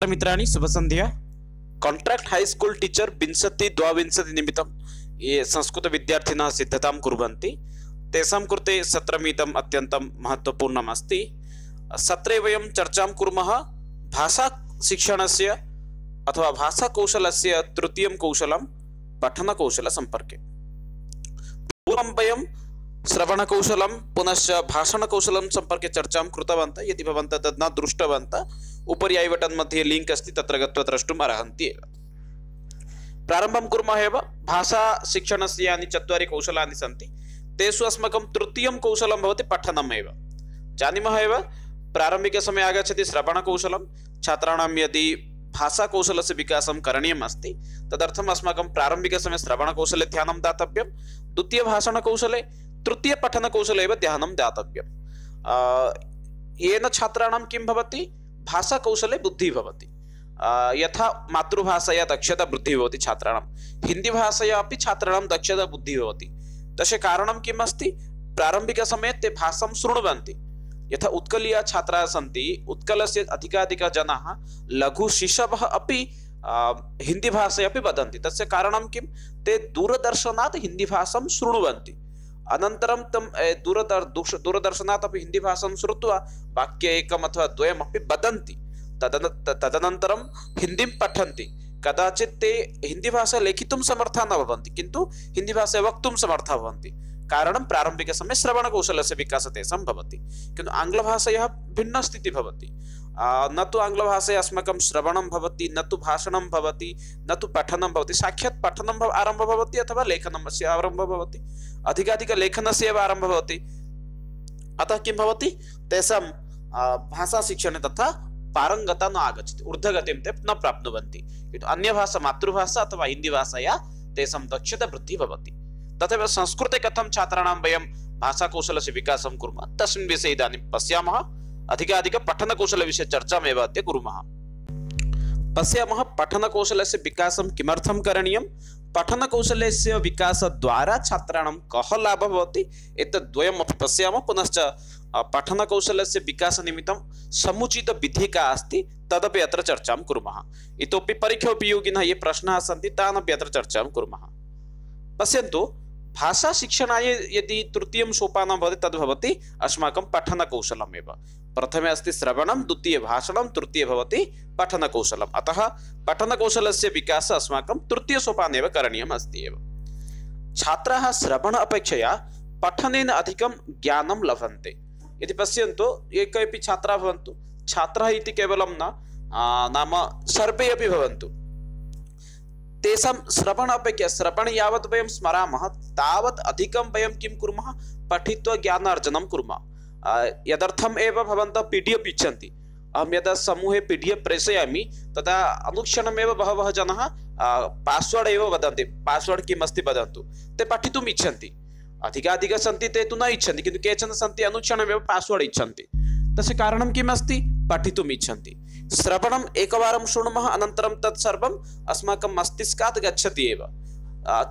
मित्राणि शुभसन्ध्या। Contract high school teacher विंशति द्वाविंशति निमित्तं ये संस्कृत विद्यार्थिनः सिद्धतां कुर्वन्ति तेषां कृते सत्रमिदम् अत्यन्तं महत्त्वपूर्णम् अस्ति। सत्रे वयं चर्चां कुर्मः भाषा शिक्षणस्य अथवा भाषाकौशलस्य तृतीयं कौशलं पठनकौशलसम्पर्के। पूर्वं वयं श्रवणकौशलं पुनश्च भाषणकौशलं सम्पर्के चर्चां कृतवन्तः। यदि भवन्तः तद् न दृष्टवन्तः उपरि ऐ बटन् मध्ये लिंक अस्ति, तत्र गत्वा द्रष्टुम् अर्हन्ति एव। प्रारम्भं कुर्मः एव। भाषा शिक्षणस्य यानि चत्वारि कौशलानि सन्ति तेषु अस्माकं तृतीयं कौशलं भवति पठनम् एव। जानीमः एव प्रारम्भिकसमये आगच्छति श्रवणकौशलं। छात्राणां यदि भाषाकौशलस्य विकासं करणीयम् अस्ति तदर्थम् अस्माकं प्रारम्भिकसमये श्रवणकौशले ध्यानं दातव्यं, द्वितीय भाषणकौशले, तृतीय पठनकौशले एव ध्यानं दातव्यं। येन छात्राणां किं भवति, भाषाकौशले बुद्धिः भवति। यथा मातृभाषया दक्षता वृद्धिः भवति छात्राणां, हिन्दीभाषया अपि छात्राणां दक्षता बुद्धिः भवति। तस्य कारणं किम् अस्ति, प्रारम्भिकसमये ते भाषां शृण्वन्ति। यथा उत्कलीय छात्राः सन्ति, उत्कलस्य अधिकाधिकाः जनाः लघुशिशवः अपि हिन्दीभाषया अपि वदन्ति। तस्य कारणं किं, ते दूरदर्शनात् हिन्दीभाषां शृण्वन्ति। अनन्तरं तं दूरदर्शनात् अपि हिन्दीभाषां श्रुत्वा वाक्य एकम् अथवा द्वयमपि वदन्ति। तदनन्तरं हिन्दीं पठन्ति। कदाचित् ते हिन्दीभाषा लेखितुं समर्थाः न भवन्ति, किन्तु हिन्दीभाषा वक्तुं समर्थाः भवन्ति। कारणं प्रारम्भिकसमये श्रवणकौशलस्य विकासः तेषां भवति। किन्तु आङ्ग्लभाषायाः भिन्ना स्थितिः भवति। न तु आङ्ग्लभाषया अस्माकं श्रवणं भवति, न तु भाषणं भवति, न तु पठनं भवति। साक्षात् पठनं आरम्भः भवति अथवा लेखनस्य आरम्भः भवति, अधिकाधिकलेखनस्य एव आरम्भः भवति। अतः किं भवति, तेषां भाषाशिक्षणे तथा पारङ्गता न आगच्छति, ऊर्ध्वगतिं ते न प्राप्नुवन्ति। किन्तु अन्यभाषा, मातृभाषा अथवा हिन्दीभाषया तेषां दक्षता वृद्धिः भवति। तथैव संस्कृते कथं छात्राणां वयं भाषाकौशलस्य विकासं कुर्मः तस्मिन् विषये इदानीं पश्यामः। अधिकाधिक पठनकौशलविषये चर्चामेव अद्य कुर्मः। पश्यामः पठनकौशलस्य विकासं किमर्थं करणीयं, पठनकौशलस्य विकासद्वारा छात्राणां कः लाभः भवति, एतद्द्वयमपि पश्यामः। पुनश्च पठनकौशलस्य विकासनिमित्तं समुचितविधिः का अस्ति तदपि अत्र चर्चां कुर्मः। इतोपि परीक्षोपयोगिनः ये प्रश्नाः सन्ति तान् अपि अत्र चर्चां कुर्मः। पश्यन्तु, भाषाशिक्षणाय यदि तृतीयं सोपानं भवति तद् भवति अस्माकं पठनकौशलमेव। प्रथमे अस्ति श्रवणं, द्वितीय भाषणं, तृतीय भवति पठनकौशलम्। अतः पठनकौशलस्य विकासः अस्माकं तृतीयसोपाने एव करणीयम् अस्ति एव। छात्राः श्रवण अपेक्षया पठनेन अधिकं ज्ञानं लभन्ते। यदि पश्यन्तु, ये केऽपि छात्राः भवन्तु, छात्राः इति केवलं न, नाम सर्वे अपि भवन्तु, तेषां श्रवण अपेक्षया श्रवणे यावत् वयं स्मरामः तावत् अधिकं वयं किं कुर्मः, पठित्वा ज्ञानार्जनं कुर्मः। यदर्थम् एव भवन्तः PDF इच्छन्ति। अहं यदा समूहे PDF प्रेषयामि तदा अनुक्षणमेव बहवः जनाः पास्वर्ड् एव वदन्ति, पास्वर्ड् किम् अस्ति वदन्तु। ते पठितुम् इच्छन्ति, अधिकाधिकाः सन्ति ते तु न इच्छन्ति, किन्तु केचन सन्ति अनुक्षणमेव पास्वर्ड् इच्छन्ति। तस्य कारणं किम् अस्ति, पठितुम् इच्छन्ति। श्रवणम् एकवारं शृणुमः, अनन्तरं तत् सर्वम् अस्माकं मस्तिष्कात् गच्छति एव,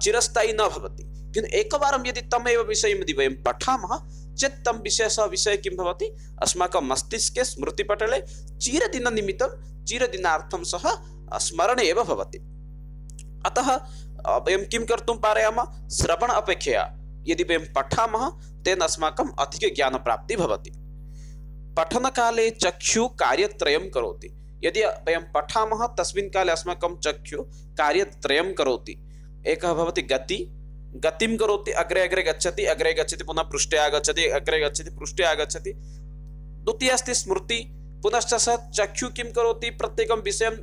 चिरस्थायी न भवति। किन्तु एकवारं यदि तमेव विषयं यदि वयं पठामः चेत् तं विषयः किं भवति, अस्माकं मस्तिष्के स्मृतिपटले चिरदिननिमित्तं, चिरदिनार्थं सः स्मरणे एव भवति। अतः वयं किं कर्तुं पारयामः, श्रवण अपेक्षया यदि वयं पठामः तेन अस्माकम् अधिकज्ञानप्राप्तिः भवति। पठनकाले चक्षु कार्यत्रयं करोति। यदि वयं पठामः तस्मिन् काले अस्माकं चक्षु कार्यत्रयं करोति। एकः भवति गतिं करोति, अग्रे अग्रे गच्छति, पुनः पृष्ठे आगच्छति, अग्रे गच्छति, पृष्ठे आगच्छति। द्वितीय अस्ति स्मृति। पुनश्च सः चक्षु किं करोति, प्रत्येकं विषयं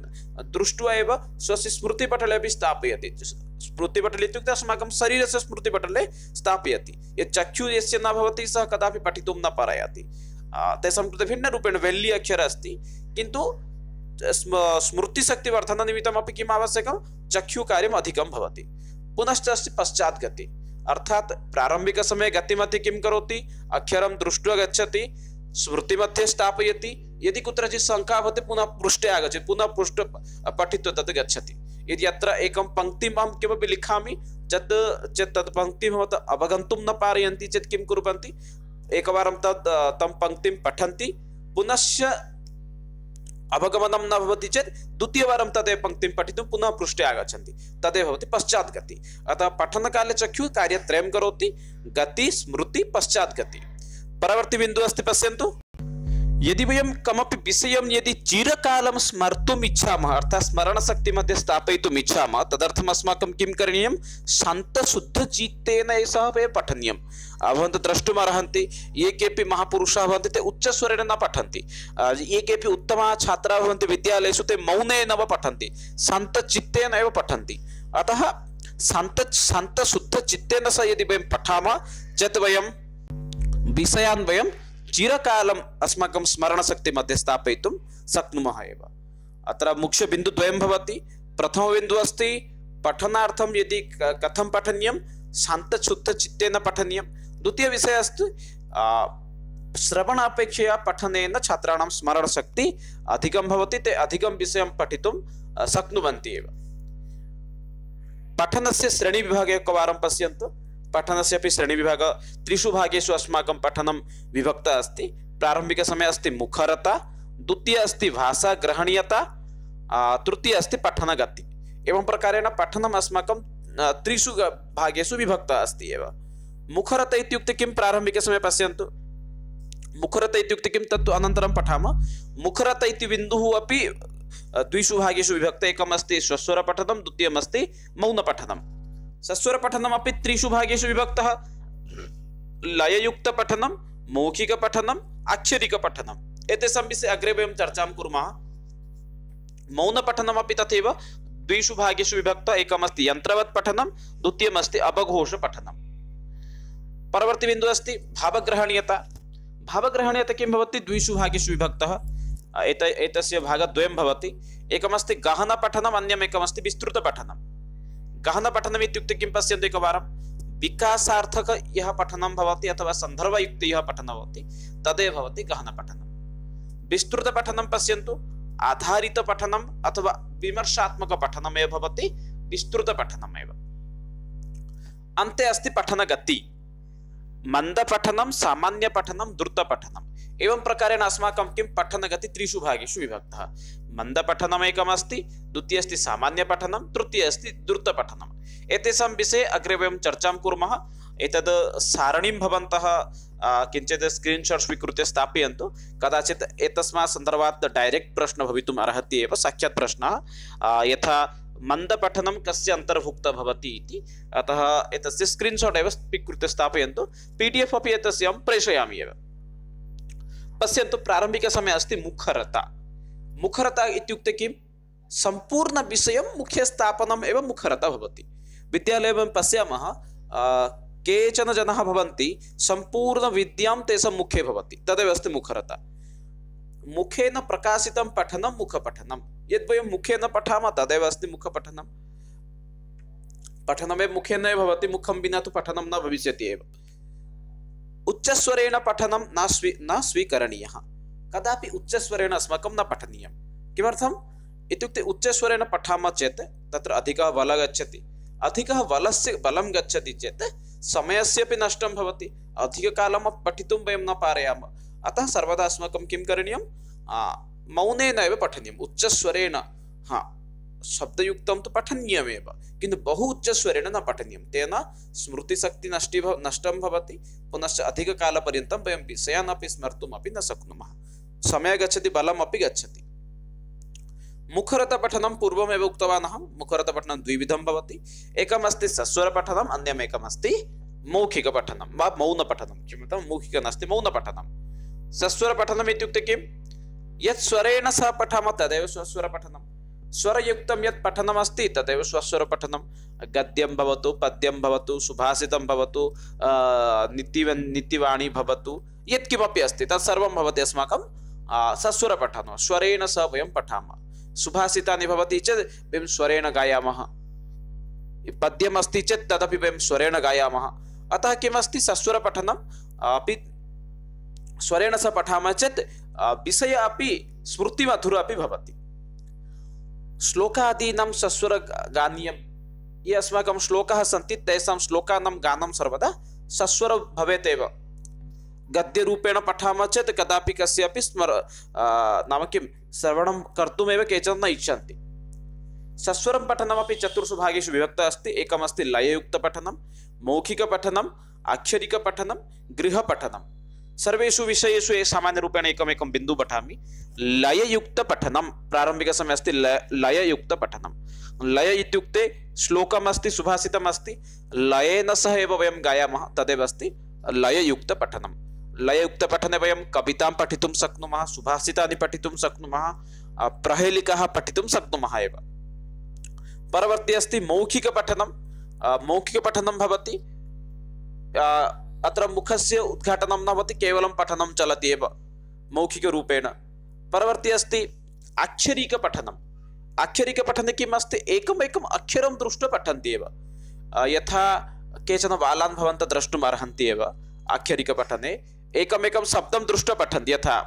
दृष्ट्वा एव स्वस्य स्मृतिपटले अपि स्थापयति। स्मृतिपटले इत्युक्ते अस्माकं शरीरस्य स्मृतिपटले स्थापयति। यत् चक्षु यस्य न भवति सः कदापि पठितुं न पारयति। तेषां कृते भिन्नरूपेण वेल्ली अक्षरः अस्ति, किन्तु स्मृतिशक्तिवर्धननिमित्तमपि किम् आवश्यकं, चक्षुकार्यम् अधिकं भवति। पुनश्च अस्ति पश्चाद्गति, अर्थात् प्रारम्भिकसमये गतिमध्ये किं करोति, अक्षरं दृष्ट्वा गच्छति, स्मृतिमध्ये स्थापयति। यदि कुत्रचित् शङ्का भवति पुनः पृष्ठे आगच्छति, पुनः पृष्ठ पठित्वा तत् गच्छति। यदि अत्र एकं पङ्क्तिम् अहं किमपि लिखामि चेत् तत् पङ्क्तिं भवन्तः अवगन्तुं न पारयन्ति चेत् किं कुर्वन्ति, एकवारं तं पङ्क्तिं पठन्ति, पुनश्च अवगमनं न भवति चेत् द्वितीयवारं तदेव पङ्क्तिं पठितुं पुनः पृष्ठे आगच्छन्ति, तदेव भवति पश्चात् गति। अतः पठनकाले चक्षुः कार्यत्रयं करोति, गति, स्मृति, पश्चात् गति। परवर्ती बिन्दुः अस्ति, पश्यन्तु। यदि वयं कमपि विषयं यदि चिरकालं स्मर्तुम् इच्छामः, अर्थात् स्मरणशक्तिमध्ये स्थापयितुम् इच्छामः, तदर्थम् अस्माकं किं करणीयं? शान्तशुद्धचित्तेन एषः पठनीयम्। भवन्तः द्रष्टुमर्हन्ति, ये केऽपि महापुरुषाः भवन्ति ते उच्चस्वरेण न पठन्ति, ये केऽपि उत्तमाः छात्राः भवन्ति विद्यालयेषु ते मौनेन एव पठन्ति, शान्तचित्तेन एव पठन्ति। अतः शान्तशुद्धचित्तेन सह यदि वयं पठामः चेत् वयं विषयान् वयं चिरकालम् अस्माकं स्मरणशक्तिमध्ये स्थापयितुं शक्नुमः एव। अत्र मुख्यबिन्दुद्वयं भवति। प्रथमबिन्दुः अस्ति पठनार्थं यदि कथं पठनीयं, शान्तशुद्धचित्तेन पठनीयं। द्वितीयविषयः अस्ति श्रवणापेक्षया पठनेन छात्राणां स्मरणशक्ति अधिकं भवति, ते अधिकं विषयं पठितुं शक्नुवन्ति एव। पठनस्य श्रेणीविभागे एकवारं पश्यन्तु। पठनस्य अपि श्रेणीविभागः त्रिषु भागेषु अस्माकं पठनं विभक्तः अस्ति। प्रारम्भिकसमये अस्ति मुखरता, द्वितीय अस्ति भाषा ग्रहणीयता, तृतीय अस्ति पठनगति। एवं प्रकारेण पठनम् अस्माकं त्रिषु भागेषु विभक्तः अस्ति एव। मुखरता इत्युक्ते किं? प्रारम्भिकसमये पश्यन्तु। मुखरता इत्युक्ते किं तत्तु अनन्तरं पठामः। मुखरता इति बिन्दुः अपि द्विषु भागेषु विभक्तः। एकम् अस्ति स्वस्वरपठनं, द्वितीयम् अस्ति मौनपठनं। सस्वरपठनमपि त्रिषु भागेषु विभक्तः। लययुक्तपठनं, मौखिकपठनं, आक्षरिकपठनं। एतेषां विषये अग्रे वयं चर्चां कुर्मः। मौनपठनमपि तथैव द्विषु भागेषु विभक्तः। एकम् अस्ति यन्त्रवत् पठनं, द्वितीयम् अस्ति अवघोषपठनं। परवर्ती बिन्दुः अस्ति भावग्रहणीयता। भावग्रहणीयता किं भवति? द्विषु भागेषु विभक्तः। एतस्य भागद्वयं भवति। एकम् अस्ति गहनपठनम्, अन्यम् एकम् अस्ति विस्तृतपठनं। गहनपठनम् इत्युक्ते किं? पश्यन्तु एकवारं। विकासार्थक यः पठनं भवति अथवा सन्दर्भयुक्त यः पठनं भवति तदेव भवति गहनपठनं। विस्तृतपठनं पश्यन्तु, आधारितपठनम् अथवा विमर्शात्मकपठनमेव भवति विस्तृतपठनमेव। अन्ते अस्ति पठनगति। मन्दपठनं, सामान्यपठनं, द्रुतपठनम्। एवं प्रकारेण अस्माकं किं? पठनगति त्रिषु भागेषु विभक्तः। मन्दपठनम् एकम् अस्ति, द्वितीयः अस्ति सामान्यपठनं, तृतीयः अस्ति द्रुतपठनम्। एतेषां विषये अग्रे वयं चर्चां कुर्मः। एतद् सारणीं भवन्तः किञ्चित् स्क्रीन्शाट् स्वीकृत्य स्थापयन्तु। कदाचित् एतस्मात् सन्दर्भात् डैरेक्ट् प्रश्नः भवितुम् अर्हति एव, साक्षात् प्रश्नः, यथा मन्दपठनं कस्य अन्तर्भुक्तः भवति इति। अतः एतस्य स्क्रीन्शाट् एव स्वीकृत्य स्थापयन्तु। PDF अपि एतस्य अहं प्रेषयामि एव। पश्यन्तु, प्रारम्भिकसमये अस्ति मुखरता। मुखरता इत्युक्ते किं? सम्पूर्णविषयं मुखे स्थापनम् एव मुखरता भवति। विद्यालये वयं पश्यामः, केचन जनाः भवन्ति सम्पूर्णविद्यां तेषां मुखे भवति, तदेव अस्ति मुखरता। मुखेन प्रकाशितं पठनं मुखपठनं। यद् वयं मुखेन पठामः तदेव अस्ति मुखपठनं। पठनमेव मुखेन एव भवति, मुखं विना तु पठनं न भविष्यति एव। उच्चस्वरेण पठनं न स्वीकरणीयः। कदापि उच्चस्वरेण अस्माकं न पठनीयं। किमर्थम् इत्युक्ते उच्चस्वरेण पठामः चेत् तत्र अधिकः बलः गच्छति। अधिकः बलं गच्छति चेत् समयस्य अपि नष्टं भवति, अधिककालं पठितुं वयं न पारयामः। अतः सर्वदा अस्माकं किं करणीयं? मौनेन एव पठनीयम्। उच्चस्वरेण शब्दयुक्तं तु पठनीयमेव, किन्तु बहु उच्चस्वरेण न पठनीयं। तेन स्मृतिशक्ति नष्टं भवति, पुनश्च अधिककालपर्यन्तं वयं विषयान् अपि स्मर्तुमपि न शक्नुमः। समयः गच्छति, बलम् अपि गच्छति। मुखरतपठनं पूर्वमेव उक्तवान् अहं। मुखरतपठनं द्विविधं भवति। एकम् अस्ति सस्वरपठनम्, अन्यम् एकम् अस्ति मौखिकपठनं वा मौनपठनं। किमर्थं? मौखिक नास्ति, मौनपठनं। सस्वरपठनम् इत्युक्ते किं? यत् स्वरेण सह पठामः तदेव स्वस्वरपठनं। स्वरयुक्तं यत् पठनमस्ति तदेव स्वस्वरपठनं। गद्यं भवतु, पद्यं भवतु, सुभाषितं भवतु, नीतिवाणी भवतु, यत्किमपि अस्ति तत्सर्वं भवति अस्माकं सस्वरपठनं। स्वरेण सह वयं पठामः। सुभाषितानि भवति चेत् वयं स्वरेण गायामः। पद्यम् अस्ति चेत् तदपि वयं स्वरेण गायामः। अतः किमस्ति? सस्वरपठनम् अपि स्वरेण सह पठामः चेत् विषय अपि स्मृतिमधुर अपि भवति। श्लोकादीनां सस्वरगानीयं। ये अस्माकं श्लोकाः सन्ति तेषां श्लोकानां गानं सर्वदा सस्वर भवेत् एव। गद्यरूपेण पठामः चेत् कदापि कस्यापि नाम किं श्रवणं कर्तुमेव केचन न इच्छन्ति। सस्वरं पठनमपि चतुर्षु भागेषु विभक्तः अस्ति। एकमस्ति लययुक्तपठनं, मौखिकपठनम्, आक्षरिकपठनं, गृहपठनं। सर्वेषु विषयेषु सामान्यरूपेण एकमेकं बिन्दुं पठामि। लययुक्तपठनं प्रारम्भिकसमये अस्ति लययुक्तपठनं। लय इत्युक्ते श्लोकम् अस्ति, सुभाषितम् अस्ति, लयेन सह एव वयं गायामः, तदेव अस्ति लययुक्तपठनं। लययुक्तपठने वयं कवितां पठितुं शक्नुमः, सुभाषितानि पठितुं शक्नुमः, प्रहेलिकाः पठितुं शक्नुमः एव। परवर्ती अस्ति मौखिकपठनं। मौखिकपठनं भवति अत्र मुखस्य उद्घाटनं न भवति, केवलं पठनं चलति एव मौखिकरूपेण। परवर्ती अस्ति आक्षरिकपठनं। आक्षरिकपठने किम् अस्ति, एकमेकम् अक्षरं दृष्ट्वा पठन्ति एव। यथा केचन बालान् भवन्तः द्रष्टुम् अर्हन्ति एव। आक्षरिकपठने एकमेकं शब्दं दृष्ट्वा पठन्ति। यथा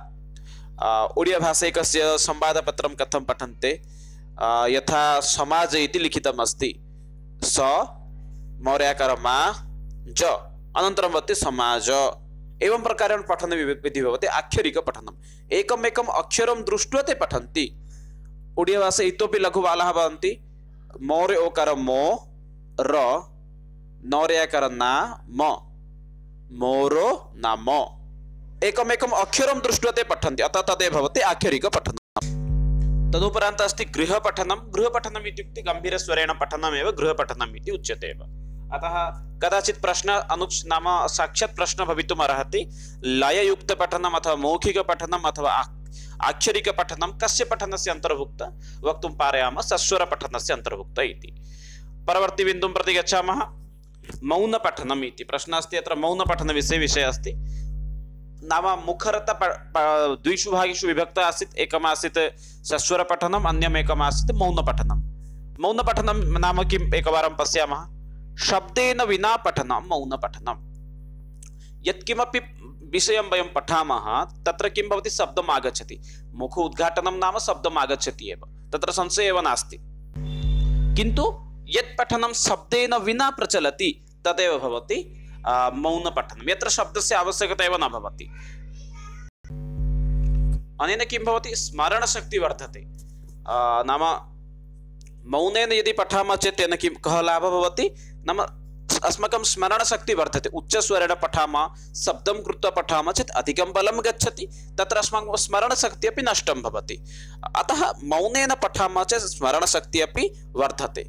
ओडियाभाषिकस्य संवादपत्रं कथं पठन्ते, यथा समाज इति लिखितम् अस्ति, स मौर्याकार मा ज अनन्तरं भवति समाज। एवं प्रकारेण पठने विधि भवति आक्षरिकपठनम्। एकमेकम् अक्षरं दृष्ट्वा ते पठन्ति। ओडियाभाषा इतोपि लघुबालाः भवन्ति। मौर्य ओकार मो र, नौर्याकार ना म, मोरो नाम। एकमेकम् अक्षरं दृष्ट्वा ते पठन्ति, अतः तदेव भवति आक्षरिकपठनम्। तदुपरान्त अस्ति गृहपठनं। गृहपठनम् इत्युक्ते गम्भीरस्वरेण पठनमेव गृहपठनम् इति उच्यते एव। अतः कदाचित् प्रश्न नाम साक्षात् प्रश्न भवितुम् अर्हति, लययुक्तपठनम् अथवा मौखिकपठनम् अथवा आक्षरिकपठनं कस्य पठनस्य अन्तर्भुक्त, वक्तुं पारयामः सस्वरपठनस्य अन्तर्भुक्त इति। परवर्ती बिन्दुं प्रति गच्छामः। मौनपठनम् इति प्रश्नः अस्ति। अत्र मौनपठनविषये अस्ति। नाम मुखरता द्विषु भागेषु विभक्तः आसीत्। एकमासीत् सस्वरपठनम्, अन्यमेकमासीत् मौनपठनं। मौनपठनं नाम किम् एकवारं पश्यामः। शब्देन विना पठनं मौनपठनं। यत्किमपि विषयं वयं पठामः तत्र किं भवति, शब्दम् आगच्छति। मुख उद्घाटनं नाम शब्दम् आगच्छति एव, तत्र संशयः एव नास्ति। किन्तु यत् पठनं शब्देन विना प्रचलति तदेव भवति मौनपठनं, यत्र शब्दस्य आवश्यकता एव न भवति। अनेन किं भवति, स्मरणशक्तिः वर्धते। नाम मौनेन यदि पठामः चेत् तेन किं कः लाभः भवति, नाम अस्माकं स्मरणशक्तिः वर्धते। उच्चस्वरेण पठामः, शब्दं कृत्वा पठामः चेत् अधिकं बलं गच्छति, तत्र अस्माकं स्मरणशक्तिः अपि नष्टं भवति। अतः मौनेन पठामः चेत् स्मरणशक्तिः अपि वर्धते।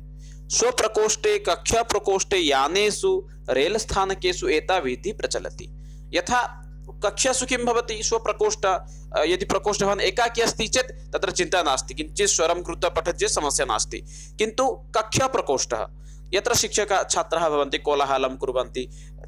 स्वप्रकोष्ठे, कक्षाप्रकोष्ठे, यानेषु, रेलस्थानकेषु एता विधिः प्रचलति। यथा कक्षासु किं भवति, स्वप्रकोष्ठ, यदि प्रकोष्ठवान् एकाकी अस्ति चेत् तत्र चिन्ता नास्ति, किञ्चित् स्वरं कृत्वा पठति चेत् समस्या नास्ति। किन्तु कक्षाप्रकोष्ठः, यत्र शिक्षकाः छात्राः भवन्ति, कोलाहलं कुर्वन्ति,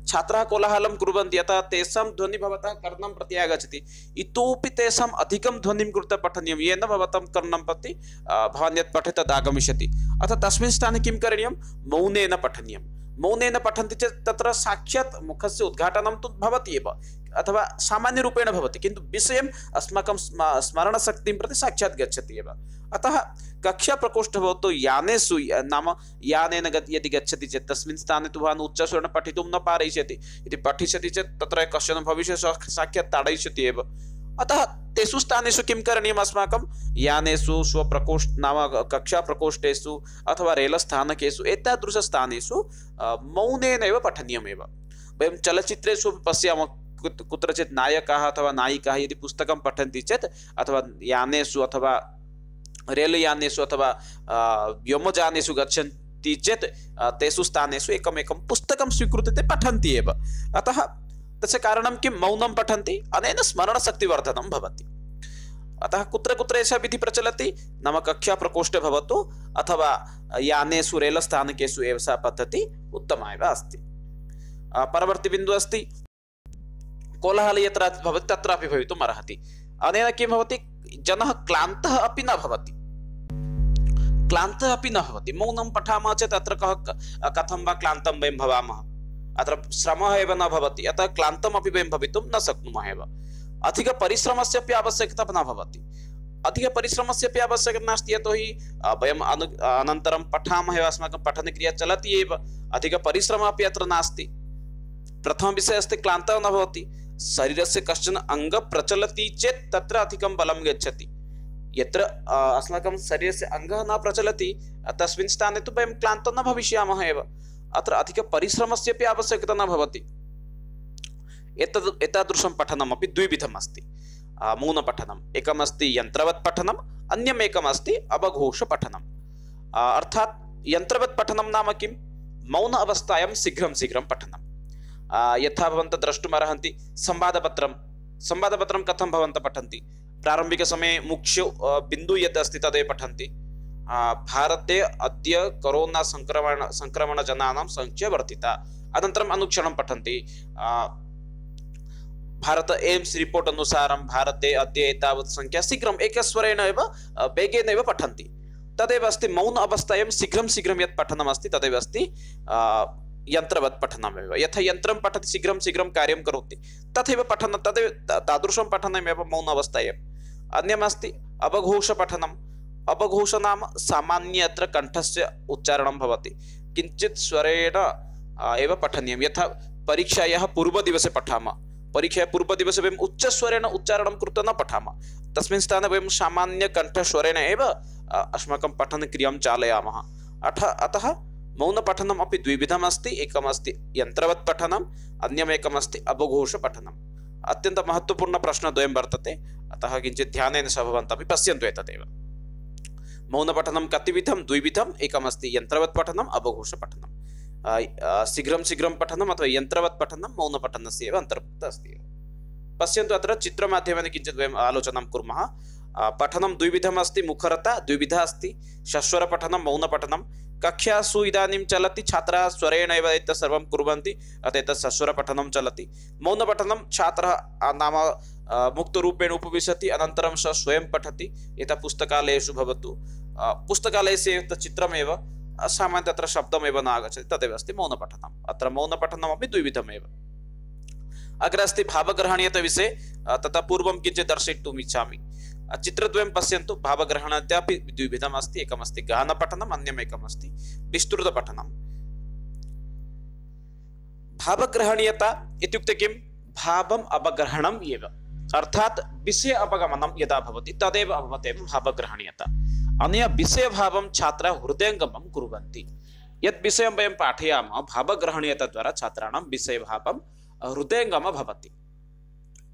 छात्राः कोलाहलं कुर्वन्ति, अतः तेषां ध्वनिः भवतः कर्णं प्रति आगच्छति। इतोपि तेषाम् अधिकं ध्वनिं कृत्वा पठनीयं, येन भवतां कर्णं प्रति भवान् यत् पठति तद् आगमिष्यति। अतः तस्मिन् स्थाने किं करणीयं, मौनेन पठनीयं। मौनेन पठन्ति चेत् तत्र साक्षात् मुखस्य उद्घाटनं तु भवति एव, अथवा सामान्यरूपेण भवति, किन्तु विषयम् अस्माकं स्मरणशक्तिं प्रति साक्षात् गच्छति एव। अतः कक्षाप्रकोष्ठः भवतु, यानेषु नाम यानेन यदि गच्छति चेत् तस्मिन् स्थाने तु भवान् उच्चस्वरेण पठितुं न पारयिष्यति। यदि पठिष्यति चेत् तत्र कश्चन भविष्यति, साक्षात् ताडयिष्यति एव। अतः तेषु स्थानेषु किं करणीयम्, अस्माकं यानेषु, स्वप्रकोष्ठ नाम कक्षाप्रकोष्ठेषु अथवा रेलस्थानकेषु एतादृशस्थानेषु मौनेन एव पठनीयमेव। वयं चलच्चित्रेषु पश्यामः, कुत्रचित् नायकाः अथवा नायिकाः यदि पुस्तकं पठन्ति चेत्, अथवा यानेषु अथवा रेलयानेषु अथवा व्योमयानेषु गच्छन्ति चेत् तेषु स्थानेषु एकमेकं पुस्तकं स्वीकृत्य ते पठन्ति एव। अतः तस्य कारणं किं, मौनं पठन्ति, अनेन स्मरणशक्तिवर्धनं भवति। अतः कुत्र कुत्र एषा विधिः प्रचलति, नाम कक्षाप्रकोष्ठे भवतु अथवा यानेषु, रेलस्थानकेषु एव सा पद्धतिः उत्तमा एव अस्ति। परवर्ती बिन्दुः अस्ति कोलाहलः यत्र भवति तत्रापि भवितुम् अर्हति। अनेन किं भवति, जनः क्लान्तः अपि न भवति। क्लान्तः अपि न भवति। मौनं पठामः चेत् अत्र कथं वा क्लान्तं वयं भवामः, अत्र श्रमः एव न भवति, अतः क्लान्तमपि वयं भवितुं न शक्नुमः एव। अधिकपरिश्रमस्य अपि आवश्यकता न भवति। अधिकपरिश्रमस्य अपि आवश्यकता नास्ति, यतोहि वयम् अनन्तरं पठामः एव, अस्माकं पठनक्रिया चलति एव, अधिकपरिश्रमः अपि अत्र नास्ति। प्रथमविषयः अस्ति क्लान्तः न भवति। शरीरस्य कश्चन अङ्ग प्रचलति चेत् तत्र अधिकं बलं गच्छति। यत्र अस्माकं शरीरस्य अङ्गः न प्रचलति तस्मिन् स्थाने तु वयं क्लान्तो न भविष्यामः एव। अत्र अधिकपरिश्रमस्यपि आवश्यकता न भवति। एतादृशं पठनमपि द्विविधम् अस्ति। मौनपठनम् एकमस्ति यन्त्रवत् पठनम्, अन्यम् एकमस्ति अवघोषपठनम्। अर्थात् यन्त्रवत् पठनं नाम किं? मौन अवस्थायां शीघ्रं शीघ्रं पठनं। यथा भवन्तः द्रष्टुमर्हन्ति संवादपत्रं कथं भवन्तः पठन्ति? प्रारम्भिकसमये मुख्य बिन्दु यत् अस्ति तदेव पठन्ति। भारते अद्य कोरोना संक्रमणजनानां संख्या वर्धिता। अनन्तरम् अनुक्षणं पठन्ति भारत एम्स रिपोर्ट अनुसारं भारते अद्य एतावत् संख्या। शीघ्रम् एकस्वरेण एव वेगेन एव पठन्ति। तदेव अस्ति मौन अवस्थायां शीघ्रं शीघ्रं यत् पठनमस्ति तदेव अस्ति यन्त्रवत् पठनमेव। यथा यन्त्रं पठति शीघ्रं शीघ्रं कार्यं करोति तथैव पठनं, तदेव तादृशं पठनमेव मौन अवस्थायाम्। अन्यमस्ति अवघोषपठनम्। अवघोष नाम सामान्य अत्र कण्ठस्य उच्चारणं भवति, किञ्चित् स्वरेण एव पठनीयं। यथा परीक्षायाः पूर्वदिवसे पठामः, परीक्षायाः पूर्वदिवसे वयम् उच्चस्वरेण उच्चारणं कृत्वा न पठामः, तस्मिन् स्थाने वयं सामान्य कण्ठस्वरेण एव अस्माकं पठनक्रियां चालयामः। अतः मौनपठनम् अपि द्विविधम् अस्ति। एकमस्ति यन्त्रवत् पठनम्, अन्यमेकमस्ति अवघोषपठनम्। अत्यन्तं महत्त्वपूर्णप्रश्नद्वयं वर्तते, अतः किञ्चित् ध्यानेन सह भवन्तः अपि पश्यन्तु एतदेव। मौनपठनं कतिविधं? द्विविधम्। एकमस्ति यन्त्रवत् पठनम्, अवघोषपठनम्। शीघ्रं शीघ्रं पठनम् अथवा यन्त्रवत् पठनं मौनपठनस्य एव अन्तर्भुक्तः अस्ति। पश्यन्तु अत्र चित्रमाध्यमेन किञ्चित् वयम् आलोचनां कुर्मः। पठनं द्विविधम् अस्ति। मुखरता द्विविधा अस्ति, सस्वरपठनं, मौनपठनं। कक्षासु इदानीं चलति, छात्राः स्वरेण एव एतत् सर्वं कुर्वन्ति, अतः एतत् सस्वरपठनं चलति। मौनपठनं छात्रः नाम मुक्तरूपेण उपविशति, अनन्तरं सः स्वयं पठति। यथा पुस्तकालयेषु भवतु, पुस्तकालयस्य एतत् चित्रमेव सामान्यतः तत्र शब्दमेव न आगच्छति, तदेव अस्ति मौनपठनम्। अत्र मौनपठनमपि द्विविधमेव। अग्रे अस्ति भावग्रहणीयताविषये। ततः पूर्वं किञ्चित् दर्शयितुम् इच्छामि। चित्रद्वयं पश्यन्तु। भावग्रहणीयतापि द्विविधम् अस्ति। एकमस्ति गहनपठनम्, अन्यमेकमस्ति विस्तृतपठनम्। भावग्रहणीयता इत्युक्ते किं? भावम् अवग्रहणम् एव, अर्थात् विषय अवगमनं यदा भवति तदेव भवत्येव भावग्रहणीयता। अनया विषयभावं छात्राः हृदयङ्गमं कुर्वन्ति। यत् विषयं वयं पाठयामः भावग्रहणीयताद्वारा छात्राणां विषयभावं हृदयङ्गमः भवति।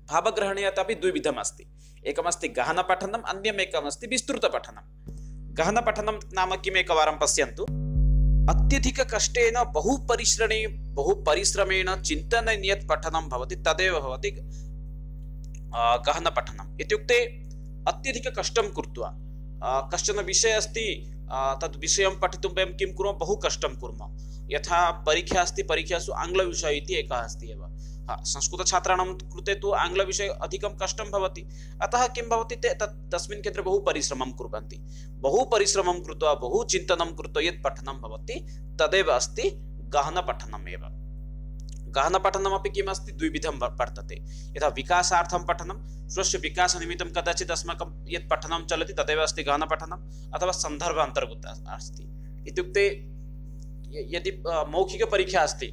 भावग्रहणीयता अपि द्विविधम् अस्ति। एकमस्ति गहनपठनम्, अन्यमेकमस्ति विस्तृतपठनम्। गहनपठनं नाम किम्? एकवारं पश्यन्तु। अत्यधिककष्टेन बहुपरिश्रमेण चिन्तनेन यत् पठनं भवति तदेव भवति गहनपठनम्। इत्युक्ते अत्यधिककष्टं कृत्वा कश्चन विषय अस्ति, तद् विषयं पठितुं वयं किं कुर्मः? बहु कष्टं कुर्मः। यथा परीक्षा अस्ति, परीक्षासु आङ्ग्लविषयः इति एकः अस्ति एव। संस्कृतछात्राणां कृते तु आङ्ग्लविषये अधिकं कष्टं भवति, अतः किं भवति, ते तस्मिन् क्षेत्रे बहु परिश्रमं कुर्वन्ति। बहु परिश्रमं कृत्वा बहु चिन्तनं कृत्वा यत् पठनं भवति तदेव अस्ति गहनपठनम् एव। गहनपठनमपि किम् अस्ति? द्विविधं वर्तते। यथा विकासार्थं पठनं, स्वस्य विकासनिमित्तं कदाचित् अस्माकं यत् पठनं चलति तदेव अस्ति गहनपठनम्, अथवा सन्दर्भ अन्तर्गतः अस्ति। इत्युक्ते यदि मौखिकपरीक्षा अस्ति,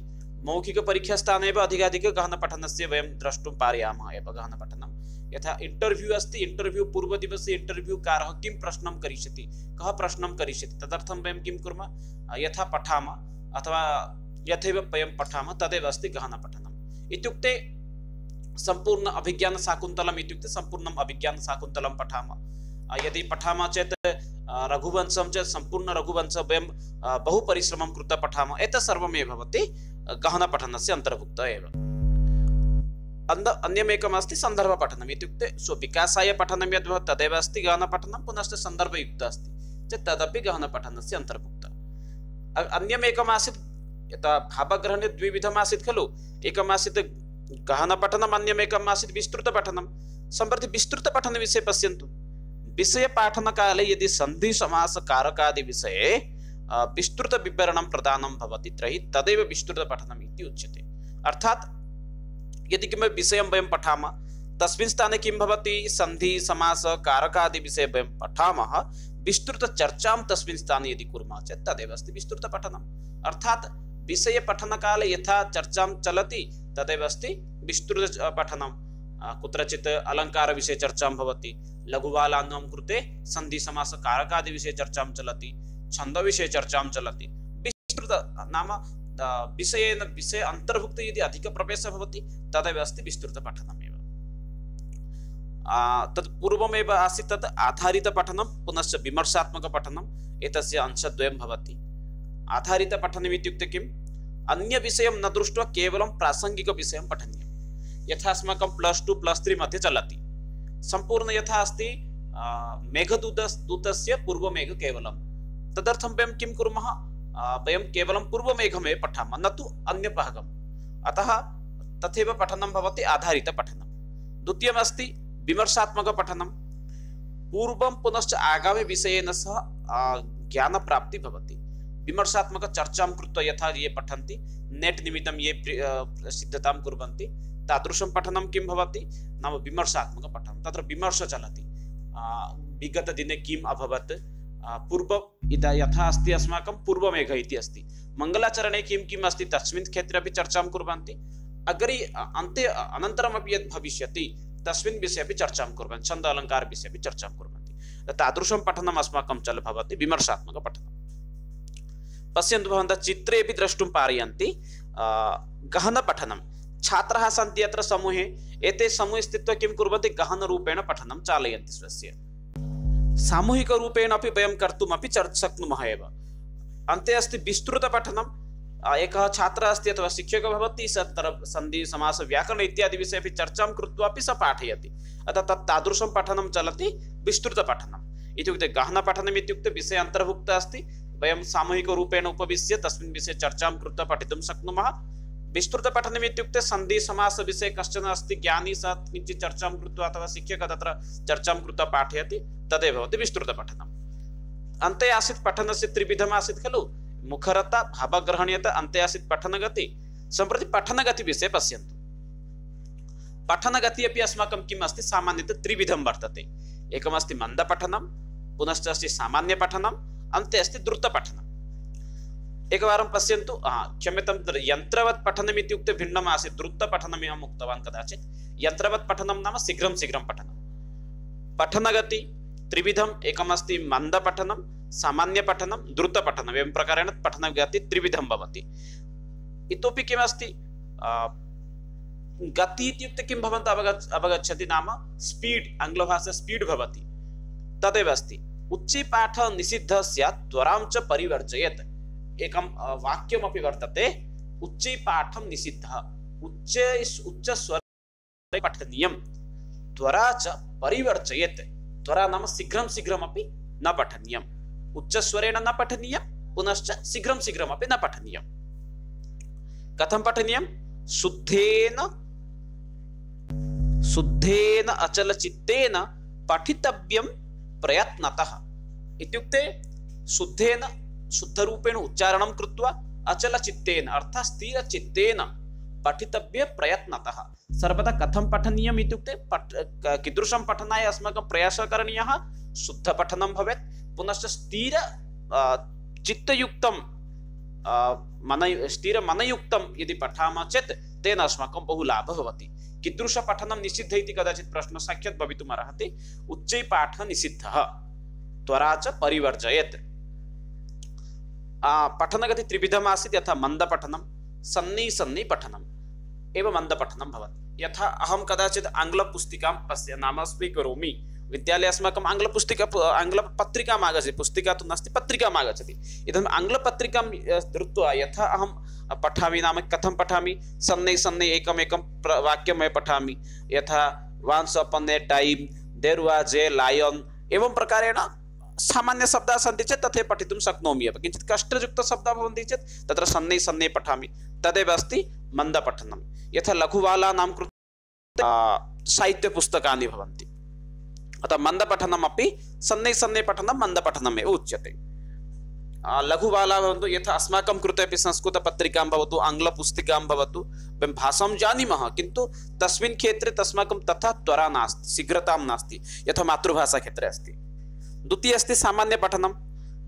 मौखिकपरीक्षास्थाने एव अधिकाधिक गहनपठनस्य वयं द्रष्टुं पारयामः एव गहनपठनं। यथा इंटरव्यू अस्ति, इंटरव्यू पूर्वदिवसे इंटरव्यूकारः किं प्रश्नं करिष्यति, कः प्रश्नं करिष्यति, तदर्थं वयं किं कुर्मः? यथा पठामः अथवा यथैव वयं पठामः तदेव अस्ति गहनपठनम्। इत्युक्ते सम्पूर्ण अभिज्ञानशाकुन्तलम् इत्युक्ते सम्पूर्णम् अभिज्ञानशाकुन्तलं पठामः। यदि पठामः चेत् रघुवंशं चेत् सम्पूर्ण रघुवंशं वयं बहु परिश्रमं कृत्वा पठामः। एतत् सर्वमेव भवति गहनपठनस्य अन्तर्भुक्तः एव। अन्यमेकमस्ति सन्दर्भपठनम्। इत्युक्ते स्वविकासाय पठनं यद् भवति तदेव अस्ति गहनपठनं, पुनश्च सन्दर्भयुक्तः अस्ति चेत् तदपि गहनपठनस्य अन्तर्भुक्तः। अन्यमेकमासीत्, यथा भावग्रहणे द्विविधम् आसीत् खलु, एकमासीत् गहनपठनम्, अन्यमेकम् आसीत् विस्तृतपठनं। सम्प्रति विस्तृतपठनविषये पश्यन्तु। विषयपाठनकाले यदि सन्धि समास कारकादि विषये विस्तृतविवरणं प्रदानं भवति तर्हि तदेव विस्तृतपठनम् इति उच्यते। अर्थात् यदि किमपि विषयं वयं पठामः तस्मिन् स्थाने किं भवति, सन्धि समास कारकादि विषये वयं पठामः, विस्तृतचर्चां तस्मिन् स्थाने यदि कुर्मः चेत् तदेव अस्ति विस्तृतपठनम्। अर्थात् विषयपठनकाले यथा चर्चां चलति तदेव अस्ति विस्तृतपठनं। कुत्रचित् अलङ्कारविषये चर्चां भवति, लघुबालानां कृते सन्धिसमासकारकादिविषये चर्चां चलति, छन्दविषये चर्चां चलति। विस्तृत नाम विषयेन विषय अन्तर्भुक्त यदि अधिकप्रवेशः भवति तदेव अस्ति विस्तृतपठनमेव। तत् पूर्वमेव आसीत् तत् आधारितपठनं पुनश्च विमर्शात्मकपठनम्, एतस्य अंशद्वयं भवति। आधारितपठनम् इत्युक्ते किम्? अन्यविषयं न दृष्ट्वा केवलं प्रासङ्गिकविषयं पठनीयं। यथा अस्माकं +2 +3 मध्ये चलति, सम्पूर्ण यथा अस्ति मेघदूतस्य पूर्वमेघ केवलं, तदर्थं वयं किं कुर्मः? वयं केवलं पूर्वमेघमेव पठामः, न तु अन्यभागम्। अतः तथैव पठनं भवति आधारितपठनं। द्वितीयमस्ति विमर्शात्मकपठनं। पूर्वं पुनश्च आगामि विषयेन सह ज्ञानप्राप्तिः भवति। विमर्शात्मकचर्चां कृत्वा यथा ये पठन्ति, नेट् निमित्तं ये सिद्धतां कुर्वन्ति, तादृशं पठनं किं भवति? नाम विमर्शात्मकपठनं। तत्र विमर्शः चलति, विगतदिने किम् अभवत्, यथा अस्ति अस्माकं पूर्वमेघ इति अस्ति, मङ्गलाचरणे किं किम् अस्ति तस्मिन् क्षेत्रे अपि चर्चां कुर्वन्ति, अग्रे अन्ते अनन्तरमपि यद् भविष्यति तस्मिन् विषये अपि चर्चां कुर्वन्ति, छन्द अलङ्कार विषये अपि चर्चां कुर्वन्ति। तादृशं पठनम् अस्माकं भवति विमर्शात्मकपठनं। पश्यन्तु, भवन्तः चित्रे अपि द्रष्टुं पारयन्ति गहनपठनं। छात्राः सन्ति अत्र समूहे, एते समूहे स्थित्वा किं कुर्वन्ति? गहनरूपेण पठनं चालयन्ति स्वस्य। सामूहिकरूपेण अपि वयं कर्तुमपि शक्नुमः एव। अन्ते अस्ति विस्तृतपठनं। एकः छात्रः अस्ति अथवा शिक्षकः भवति, स तत्र सन्धि समास व्याकरण इत्यादि विषये अपि चर्चां कृत्वा अपि स पाठयति। अतः तादृशं पठनं चलति विस्तृतपठनम्। इत्युक्ते गहनपठनम् इत्युक्ते विषये अन्तर्भुक्तः अस्ति, वयं सामूहिकरूपेण उपविश्य तस्मिन् विषये चर्चां कृत्वा पठितुं शक्नुमः। विस्तृतपठनम् इत्युक्ते सन्धि समास विषये कश्चन अस्ति ज्ञानी, स किञ्चित् चर्चां कृत्वा अथवा शिक्षकः तत्र चर्चां कृत्वा पाठयति, तदेव भवति विस्तृतपठनम्। अन्ते आसीत् पठनस्य त्रिविधम् आसीत् खलु, मुखरता, भावग्रहणीयता, अन्ते आसीत् पठनगति। सम्प्रति पठनगतिविषये पश्यन्तु। पठनगति अपि अस्माकं किम् अस्ति? सामान्यतः त्रिविधं वर्तते। एकमस्ति मन्दपठनं, पुनश्च अस्ति सामान्यपठनम्, अन्ते अस्ति द्रुतपठनम्। एकवारं पश्यन्तु, क्षम्यतां, यन्त्रवत् पठनम् इत्युक्ते भिन्नम् आसीत्। द्रुतपठनम् अहम् उक्तवान् कदाचित्। यन्त्रवत् पठनं नाम शीघ्रं शीघ्रं पठनं। पठनगति त्रिविधम्, एकमस्ति मन्दपठनं, सामान्यपठनं, द्रुतपठनम्। एवं प्रकारेण पठनगति त्रिविधं भवति। इतोपि किमस्ति? गति इत्युक्ते किं भवन्तः अवगच्छन्ति? नाम स्पीड्, आङ्ग्लभाषा स्पीड् भवति, तदेव अस्ति। उच्चैपाठ निषिद्धः स्यात् त्वरां च परिवर्जयेत्। एकं वाक्यमपि वर्तते, उच्चैपाठं निषिद्धः, उच्चस्वरे पठनीयं, त्वरा च परिवर्जयेत्। त्वरा नाम शीघ्रं शीघ्रमपि न पठनीयम्, उच्चस्वरेण न पठनीयं, पुनश्च शीघ्रं शीघ्रमपि न पठनीयं। कथं पठनीयं? शुद्धेन अचलचित्तेन पठितव्यं प्रयत्नतः। इत्युक्ते शुद्धरूपेण उच्चारणं कृत्वा अचलचित्तेन अर्थात् स्थिरचित्तेन पठितव्य प्रयत्नतः। सर्वदा कथं पठनीयम् इत्युक्ते कीदृशं पठनाय अस्माकं प्रयासः करणीयः? शुद्धपठनं भवेत्, पुनश्च चित्तयुक्तं स्थिरमनयुक्तं यदि पठामः चेत् तेन अस्माकं बहु लाभः भवति। कीदृशपठनं निषिद्धः इति कदाचित् प्रश्नः साक्षात् भवितुम् अर्हति। उच्चैपाठः निषिद्धः, त्वरा च परिवर्जयेत्। पठनगति त्रिविधम् आसीत्। यथा मन्दपठनं, सन्नि पठनम् एव मन्दपठनं भवति। यथा अहं कदाचित् आङ्ग्लपुस्तिकां नाम स्वीकरोमि, विद्यालये अस्माकम् आङ्ग्लपत्रिकाम् आगच्छति, पुस्तिका तु नास्ति, पत्रिकाम् आगच्छति। इदानीम् आङ्ग्लपत्रिकां धृत्वा यथा अहं पठामि, नाम कथं पठामि? सन्नै एकमेकं वाक्यं पठामि। यथा once upon a time there was a lion, एवं प्रकारेण सामान्यशब्दाः सन्ति चेत् तथैव पठितुं शक्नोमि एव। किञ्चित् कष्टयुक्तशब्दाः भवन्ति चेत् तत्र सन्नै पठामि, तदेव अस्ति मन्दपठनं। यथा लघुबालानां कृते साहित्यपुस्तकानि भवन्ति, अतः मन्दपठनमपि सन्नै पठनं मन्दपठनमेव उच्यते। लघुबालाः भवन्तु, यथा अस्माकं कृते अपि संस्कृतपत्रिकां भवतु, आङ्ग्लपुस्तिकां भवतु, वयं भाषां जानीमः, किन्तु तस्मिन् क्षेत्रे तस्माकं तथा त्वरा नास्ति, शीघ्रतां नास्ति, यथा मातृभाषाक्षेत्रे अस्ति। द्वितीयः अस्ति सामान्यपठनं।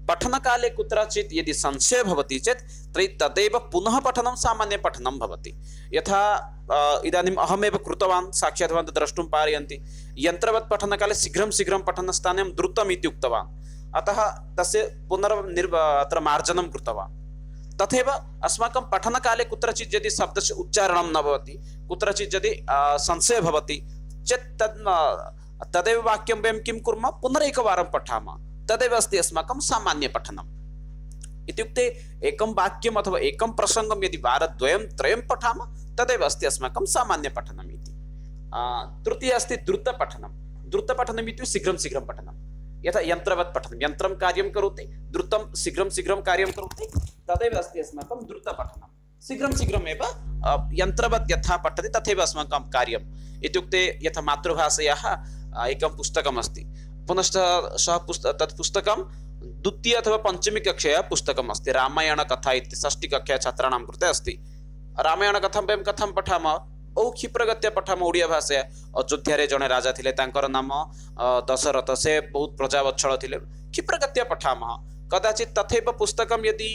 पठनकाले कुत्रचित् यदि संशयः भवति चेत् तर्हि तदेव पुनः पठनं सामान्यपठनं भवति। यथा इदानीम् अहमेव कृतवान्, साक्षात् भवन्तः द्रष्टुं पारयन्ति। यन्त्रवत् पठनकाले शीघ्रं शीघ्रं पठनस्थाने द्रुतम् इति उक्तवान्, अतः तस्य अत्र मार्जनं कृतवान्। तथैव अस्माकं पठनकाले कुत्रचित् यदि शब्दस्य उच्चारणं न भवति, कुत्रचित् यदि संशयः भवति चेत् तदेव वाक्यं वयं किं कुर्मः, पुनरेकवारं पठामः। तदेव अस्ति अस्माकं सामान्यपठनम्। इत्युक्ते एकं वाक्यम् अथवा एकं प्रसङ्गं यदि वारद्वयं त्रयं पठामः तदेव अस्ति अस्माकं सामान्यपठनम् इति। तृतीय अस्ति द्रुतपठनं। द्रुतपठनम् इत्युक्ते शीघ्रं शीघ्रं पठनं, यथा यन्त्रवत् पठनं, यन्त्रं कार्यं करोति, द्रुतं शीघ्रं शीघ्रं कार्यं करोति, तदेव अस्ति अस्माकं द्रुतपठनं। शीघ्रं शीघ्रमेव यन्त्रवत् यथा पठति तथैव अस्माकं कार्यम्। इत्युक्ते यथा मातृभाषायाः एकं पुस्तकम् अस्ति, पुनश्च तत् पुस्तकं द्वितीय अथवा पञ्चमी कक्षायाः पुस्तकम् अस्ति, रामायणकथा इति षष्ठीकक्षा छात्राणां कृते अस्ति। रामायणकथां वयं कथं पठामः, बहु क्षिप्रगत्या पठामः ओडिया भाषाया। अयोध्यारे जणे राजा थिले, तांकर नाम दशरथ, से बहुत प्रजावत्सल थिले, क्षिप्रगत्या पठामः। कदाचित् तथैव पुस्तकं यदि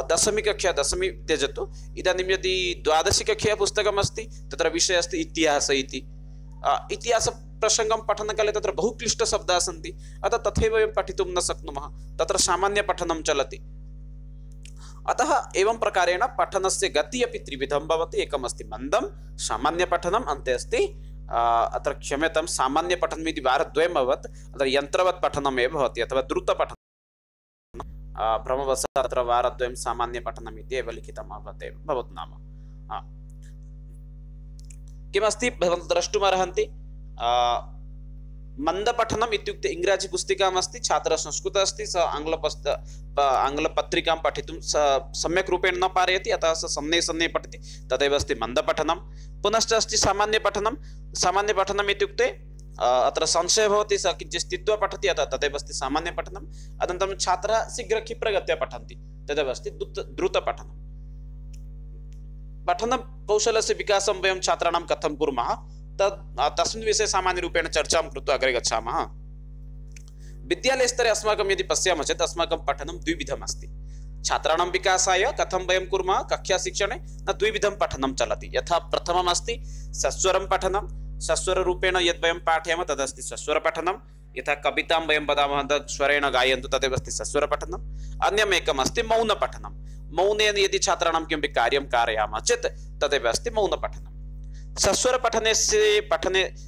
दशमी कक्षा, दशमी त्यजतु, इदानीं यदि द्वादशी कक्षा पुस्तकम् अस्ति, तत्र विषयः अस्ति इतिहास इति। इतिहास प्रसङ्गं पठनकाले तत्र बहु क्लिष्टशब्दाः सन्ति, अतः तथैव वयं पठितुं न शक्नुमः, तत्र सामान्यपठनं चलति। अतः एवं प्रकारेण पठनस्य गतिः अपि त्रिविधं भवति। एकम् अस्ति मन्दं सामान्यपठनम्, अन्ते अस्ति अत्र क्षम्यतां सामान्यपठनम् इति वारद्वयम् अभवत्, अत्र यन्त्रवत् पठनम् एव भवति अथवा द्रुतपठनं। भ्रमवशात् अत्र वारद्वयं सामान्यपठनम् इति एव लिखितम् अभवत् एव भवतु नाम। किमस्ति भवन्तः द्रष्टुमर्हन्ति, मन्दपठनम् इत्युक्ते इङ्ग्राजी पुस्तिकाम् अस्ति, छात्रः संस्कृत अस्ति, स आङ्ग्लपत्रिकां पठितुं सम्यक् रूपेण न पारयति, अतः स सन्ने सन्ने पठति, तदेव अस्ति मन्दपठनं। पुनश्च अस्ति सामान्यपठनं। सामान्यपठनम् इत्युक्ते अत्र संशयः भवति, स किञ्चित् स्थित्वा पठति, अतः तदेव अस्ति सामान्यपठनम्। अनन्तरं छात्राः शीघ्रक्षिप्रगत्या पठन्ति, तदेव अस्ति द्रुतपठनं। पठनकौशलस्य विकासं वयं छात्राणां कथं कुर्मः तस्मिन् विषये सामान्यरूपेण चर्चां कृत्वा अग्रे गच्छामः। विद्यालयस्तरे अस्माकं यदि पश्यामः चेत् अस्माकं पठनं द्विविधम् अस्ति। छात्राणां विकासाय कथं वयं कुर्मः, कक्षाशिक्षणे न द्विविधं पठनं चलति। यथा प्रथमम् अस्ति सस्वरं पठनं, सस्वररूपेण यद् वयं पाठयामः तदस्ति सस्वरपठनं। यथा कवितां वयं वदामः तद् स्वरेण गायन्तु, तदेव अस्ति सस्वरपठनम्। अन्यम् एकम् अस्ति मौनपठनं। मौनेन यदि छात्राणां किमपि कार्यं कारयामः चेत् तदेव अस्ति मौनपठनं। सस्वरपठने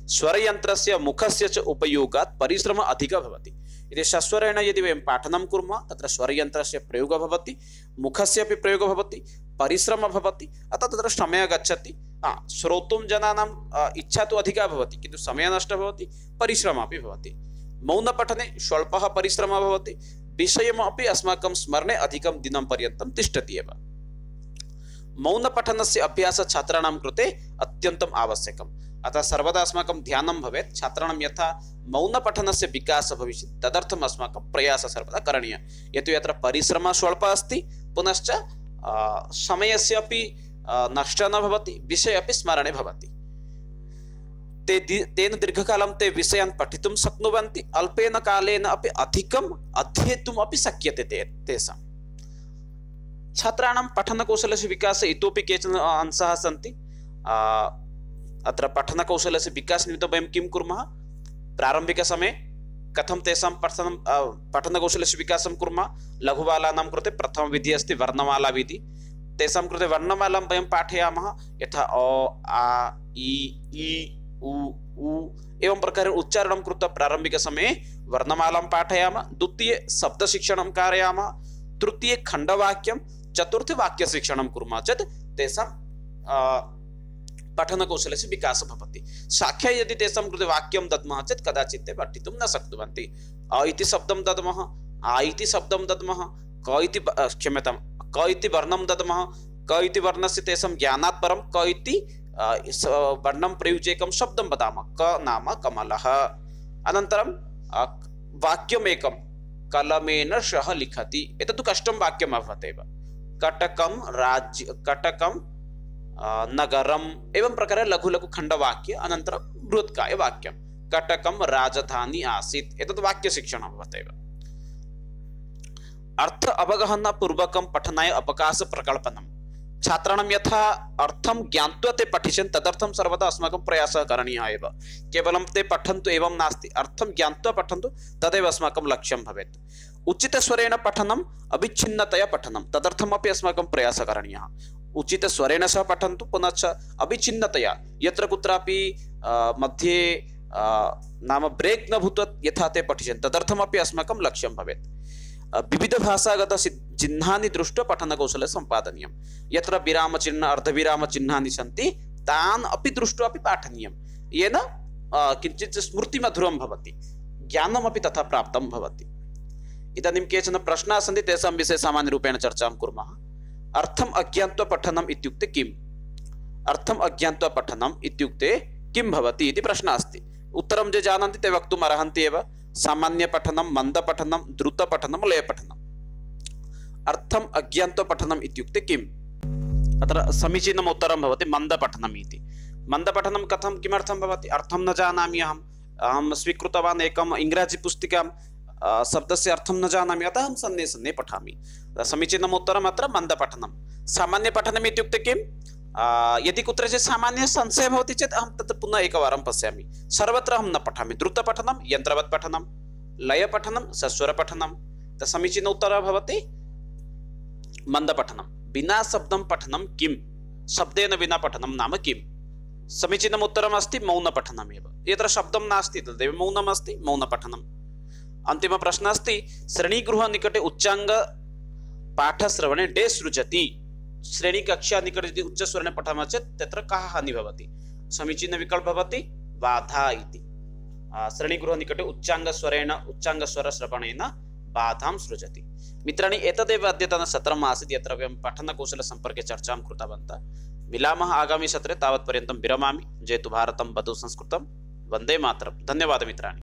स्वरयन्त्रस्य मुखस्य च उपयोगात् परिश्रमः अधिकः भवति। यदि सस्वरेण यदि वयं पाठनं कुर्मः तत्र स्वरयन्त्रस्य प्रयोगः भवति, मुखस्य अपि प्रयोगः भवति, परिश्रमः भवति, अतः तत्र समयः गच्छति। श्रोतुं जनानाम् इच्छा तु अधिका भवति, किन्तु समयः नष्टः भवति, परिश्रमः अपि भवति। मौनपठने स्वल्पः परिश्रमः भवति, विषयमपि अस्माकं स्मरणे अधिकं दिनं पर्यन्तं तिष्ठति एव। मौनपठनस्य अभ्यासः छात्राणां कृते अत्यन्तम् आवश्यकम्। अतः सर्वदा अस्माकं ध्यानं भवेत्, छात्राणां यथा मौनपठनस्य विकासः भविष्यति तदर्थम् अस्माकं प्रयासः सर्वदा करणीयः। यतो यत्र परिश्रमः स्वल्पः अस्ति, पुनश्च समयस्य अपि नष्टः न भवति, विषयः अपि स्मरणे भवति। तेन दीर्घकालं ते विषयान् पठितुं शक्नुवन्ति, अल्पेन कालेन अपि अधिकम् अध्येतुम् अपि शक्यते तेषां। छात्राणां पठनकौशलस्य विकासे इतोपि केचन अंशाः सन्ति। अत्र पठनकौशलस्य विकासनिमित्तं वयं किं कुर्मः, प्रारम्भिकसमये कथं तेषां पठनकौशलस्य विकासं कुर्मः। लघुबालानां कृते प्रथमविधिः अस्ति वर्णमालाविधिः। तेषां कृते वर्णमालां वयं पाठयामः, यथा अ आ इ ई उ ऊ एवं प्रकारेण उच्चारणं कृत्वा प्रारम्भिकसमये वर्णमालां पाठयामः। द्वितीये शब्दशिक्षणं कारयामः, तृतीये खण्डवाक्यं, चतुर्थे वाक्यशिक्षणं कुर्मः चेत् तेषां पठनकौशलस्य विकासः भवति। साक्षात् यदि तेषां कृते वाक्यं दद्मः चेत् कदाचित् ते पठितुं न शक्नुवन्ति। अ इति शब्दं दद्मः, आ इति शब्दं दद्मः, क इति क्षम्यतां क इति वर्णं दद्मः, क इति वर्णस्य तेषां ज्ञानात् परं क इति वर्णं प्रयुज्य एकं शब्दं वदामः, क नाम कमलः। अनन्तरं वाक्यमेकं कलमेन सह लिखति, एतत् कष्टं वाक्यम् अभवत् एव। कटकं कटकं नगरम् एवं प्रकारे लघु लघु खण्डवाक्य, अनन्तरं बृहत्कायवाक्यं कटकं राजधानी आसीत्, एतत् वाक्यशिक्षणम् अभवत् एव। अर्थ अवगहनपूर्वकं पठनाय अवकाश प्रकल्पनं। छात्राणां यथा अर्थं ज्ञात्वा ते पठिष्यन् तदर्थं सर्वदा अस्माकं प्रयासः करणीयः एव। केवलं ते पठन्तु एवं नास्ति, अर्थं ज्ञात्वा पठन्तु तदेव अस्माकं लक्ष्यं भवेत्। उचितस्वरेण पठनम् अविच्छिन्नतया पठनं तदर्थमपि अस्माकं प्रयासः करणीयः। उचितस्वरेण सह पठन्तु, पुनश्च अविच्छिन्नतया यत्र कुत्रापि मध्ये नाम ब्रेक् न भूत्वा यथा ते पठिष्यन् तदर्थमपि अस्माकं लक्ष्यं भवेत्। विविधभाषागत चिह्नानि दृष्ट्वा पठनकौशलं सम्पादनीयं। यत्र विरामचिह्न अर्धविरामचिह्नानि सन्ति तान् अपि दृष्ट्वा अपि पाठनीयं, येन किञ्चित् स्मृतिमधुरं भवति, ज्ञानमपि तथा प्राप्तं भवति। इदानीं केचन प्रश्नाः सन्ति, तेषां विषये सामान्यरूपेण चर्चां कुर्मः। अर्थम् अज्ञात्वा पठनम् इत्युक्ते किम्? अर्थम् अज्ञात्वा पठनम् इत्युक्ते किं भवति इति प्रश्नः अस्ति। उत्तरं ये जानन्ति ते वक्तुम् अर्हन्ति एव। सामान्यपठनं, मन्दपठनं, द्रुतपठनं, लयपठनम्। अर्थम् अज्ञात्वा पठनम् इत्युक्ते किम्? अत्र समीचीनम् उत्तरं भवति मन्दपठनम् इति। मन्दपठनं कथं, किमर्थं भवति? अर्थं न जानामि अहं स्वीकृतवान् एकम् इङ्ग्राजी पुस्तिकां, शब्दस्य अर्थं न जानामि, अतः अहं सन्ने सन्ने पठामि। समीचीनम् उत्तरम् अत्र मन्दपठनं। सामान्यपठनम् इत्युक्ते किं? यदि कुत्रचित् सामान्य संशयः भवति चेत् अहं तत् पुनः एकवारं पश्यामि, सर्वत्र अहं न पठामि। द्रुतपठनं यन्त्रवत् पठनं, लयपठनं सस्वरपठनं। समीचीन उत्तरः भवति मन्दपठनं। विना शब्दं पठनं किं? शब्देन विना पठनं नाम किं? समीचीनम् उत्तरम् अस्ति मौनपठनम् एव। यत्र शब्दं नास्ति तदेव मौनम् अस्ति, मौनपठनम्। अन्तिमप्रश्नः अस्ति, श्रेणीगृहनिकटे उच्चाङ्गपाठश्रवणे डे सृजति। श्रेणीकक्षा निकटे यदि उच्चस्वरेण पठामः चेत् तत्र कः हानिः भवति? समीचीनविकल्पः भवति बाधा इति। श्रेणीगृहनिकटे उच्चाङ्गस्वरश्रवणेन बाधां सृजति। मित्राणि, एतदेव अद्यतनसत्रम् आसीत्, यत्र वयं पठनकौशलसम्पर्के चर्चां कृतवन्तः। मिलामः आगामि सत्रे, तावत्पर्यन्तं विरमामि। जयतु भारतं, वदतु संस्कृतं, वन्दे मातरम्। धन्यवादः मित्राणि।